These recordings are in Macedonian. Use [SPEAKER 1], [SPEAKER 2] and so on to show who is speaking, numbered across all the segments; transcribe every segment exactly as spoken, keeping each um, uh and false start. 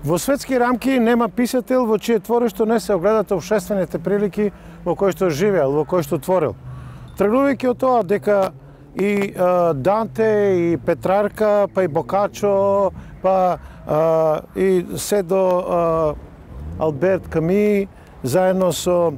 [SPEAKER 1] Во светски рамки нема писател во чие творишто не се огледат општествените прилики во кои што живеел, во кои што творил. Тргнувајќи од тоа дека и а, Данте, и Петрарка, па и Бокачо, па а, и се до а, Алберт Ками, заедно со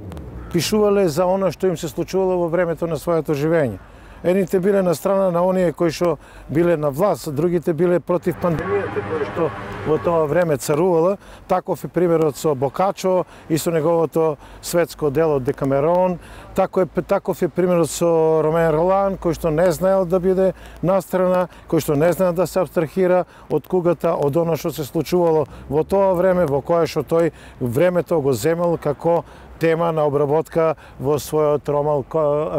[SPEAKER 1] пишувале за она што им се случувало во времето на своето живење. Едните биле на страна на оние кои што биле на власт, другите биле против пандемијата која што во тоа време царувала. Таков е примерот со Бокачо и со неговото светско дело Декамерон. Тако е, таков е примерот со Ромен Ролан, кој што не знаел да биде настрана, кој што не знаел да се абстрахира од кугата, од оно што се случувало во тоа време, во кое што тој времето го земел како тема на обработка во својот роман,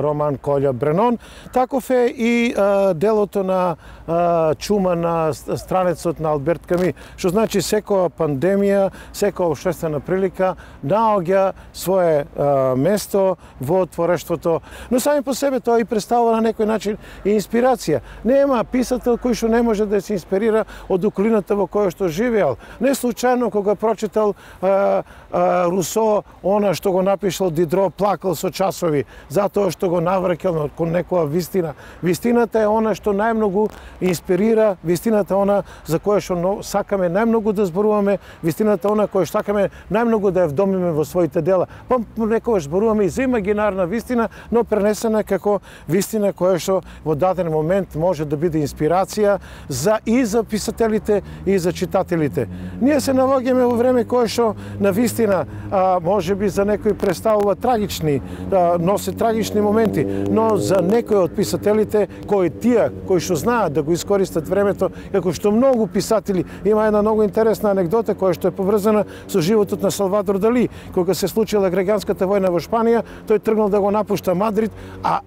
[SPEAKER 1] роман Колја Бренон. Таков е и а, делото на а, чума на странецот на Алберт Ками, што значи секоја пандемија, секоја општествена прилика наоѓа свое а, место во творештвото. Но сами по себе тоа и представува на некој начин и инспирација. Нема писател кој што не може да се инспирира од околината во која што живеел. Не случајно кога прочитал а, а, Русо, она што го напишал Дидро, плакал со часови, затоа што го навраќал кон некоја вистина. Вистината е она што најмногу инспирира, вистината е она за која што сакаме најмногу да зборуваме, вистината е она која што сакаме најмногу да ја вдомиме во своите дела. Па некогаш зборуваме и за имагинарна вистина, но пренесена како вистина која што во даден момент може да биде инспирација за и за писателите и за читателите. Ние се наоѓаме во време кое што на вистина а, може би за некои представува трагични, а, носи трагични моменти, но за некои од писателите кои тие кои што знаат да го искористат времето, како што многу писатели, има една многу интересна анегдота која што е поврзана со животот на Салвадор Дали. Кога се случила граѓанската војна во Шпанија, тој тргнал да го напушта Мадрид, а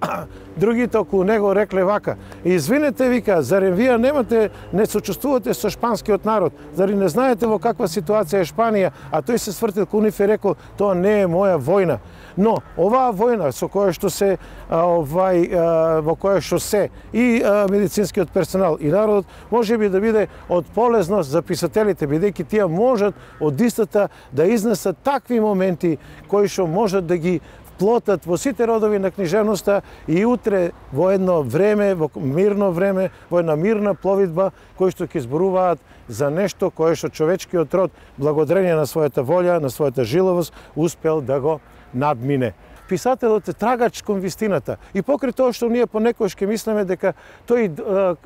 [SPEAKER 1] другите околу него рекле вака: "Извинете, вика, заре вие немате, не сочувствувате со шпанскиот народ, заре не знаете во каква ситуација е Шпанија?" А тој се свртил кон нив и рекол: "Тоа не е моја војна." Но оваа војна со која што се овај во која што се и медицинскиот персонал и народот може би да биде од полезност за писателите, бидејќи тие можат од истата да изнесат такви моменти кои што можат да ги плотат во сите родови на книжевноста и утре во едно време, во мирно време, во една мирна пловидба, кои што ќе зборуваат за нешто кое што човечкиот род, благодарение на својата волја, на својата жиловост, успел да го надмине. Писателот е трагач кон вистината. И покрај тоа што ние понекогаш ќе мислиме дека тој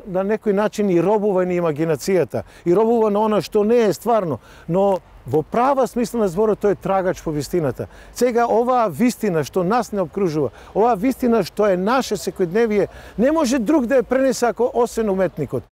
[SPEAKER 1] на некој начин и робува на имагинацијата, и робува на она што не е стварно, но во права смисла на зборот тој е трагач по вистината. Сега оваа вистина што нас не обкружува, оваа вистина што е наше секојдневие, не може друг да ја пренесе ако освен уметникот.